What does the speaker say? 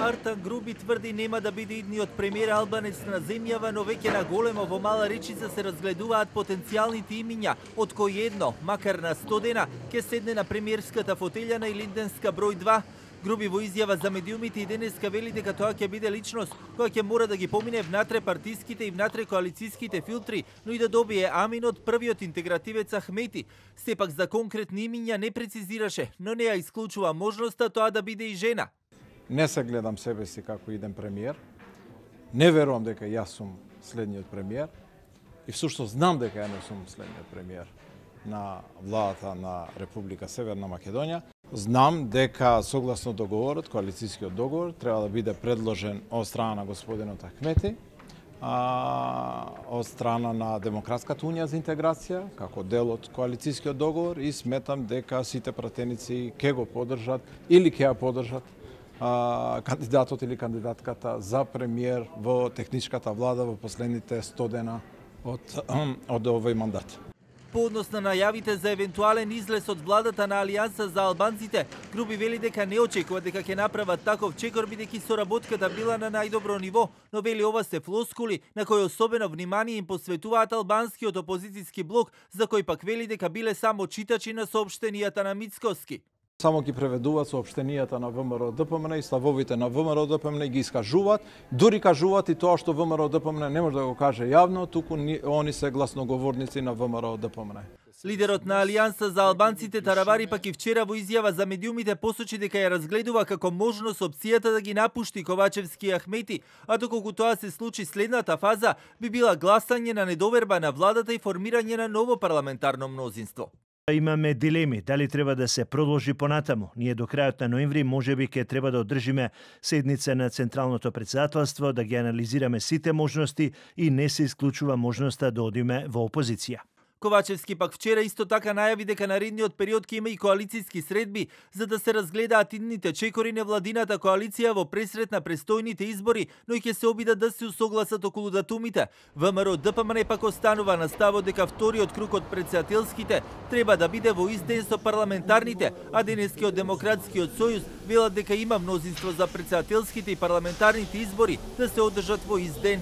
Артан Груби тврди нема да биде идниот премиер албанец на земјава, но веќе на големо во Мала Речица се разгледуваат потенцијалните имиња, од кои едно, макар на 100 дена, ќе седне на премиерската фотелја на Илинденска број 2. Груби во изјава за медиумите и денеска вели дека тоа ќе биде личност која ќе мора да ги помине внатре партиските и внатре коалицијските филтри, но и да добие амин од првиот интегративец Ахмети. Сепак за конкретни имиња не прецизираше, но не ја исклучува можноста тоа да биде и жена. Не се гледам себе си како иден премиер. Не верувам дека јас сум следниот премиер. И всушност знам дека ја не сум следниот премиер на владата на Република Северна Македонија. Знам дека согласно договорот, коалицијскиот договор, треба да биде предложен од страна на господинот Ахмети, од страна на Демократската унија за интеграција, како дел од коалицијскиот договор, и сметам дека сите пратеници ќе го поддржат или ќе ја поддржат кандидатот или кандидатката за премиер во техничката влада во последните 100 дена од овој мандат. По однос на најавите за евентуален излез од владата на Алијанса за албанците, Груби вели дека не очекува дека ќе направат таков чекор, бидејќи соработката била на најдобро ниво, но вели ова се флоскули на кои особено внимание им посветуваат албанскиот опозицијски блок, за кој пак вели дека биле само читачи на соопштенијата на Мицкоски. Само ги преведуваат соопштенијата на ВМРО ДПМН и ставовите на ВМРО ДПМН ги искажуваат, дури кажуваат и тоа што ВМРО ДПМН не може да го каже јавно, туку они се гласноговорници на ВМРО ДПМН. Лидерот на Алијанса за албанците Тарабари пак и вчера во изјава за медиумите посочи дека ја разгледува како можност опцијата да ги напушти Ковачевски и Ахмети, а доколку тоа се случи, следната фаза би била гласање на недоверба на владата и формирање на ново парламентарно мнозинство. Имаме дилеми дали треба да се продолжи понатаму. Ние до крајот на ноември можеби ќе треба да одржиме седница на Централното претседателство, да ги анализираме сите можности и не се исклучува можноста да одиме во опозиција. Ковачевски пак вчера исто така најави дека наредниот период ќе има и коалицијски средби, за да се разгледаат идните чекори на владината коалиција во пресрет на престојните избори, но и ќе се обидат да се усогласат околу датумите. ВМРО ДПМН пак останува на ставот дека вториот круг од претседателските треба да биде во ист ден со парламентарните, а денескиот Демократскиот сојуз велат дека има мнозинство за претседателските и парламентарните избори да се одржат во ист ден.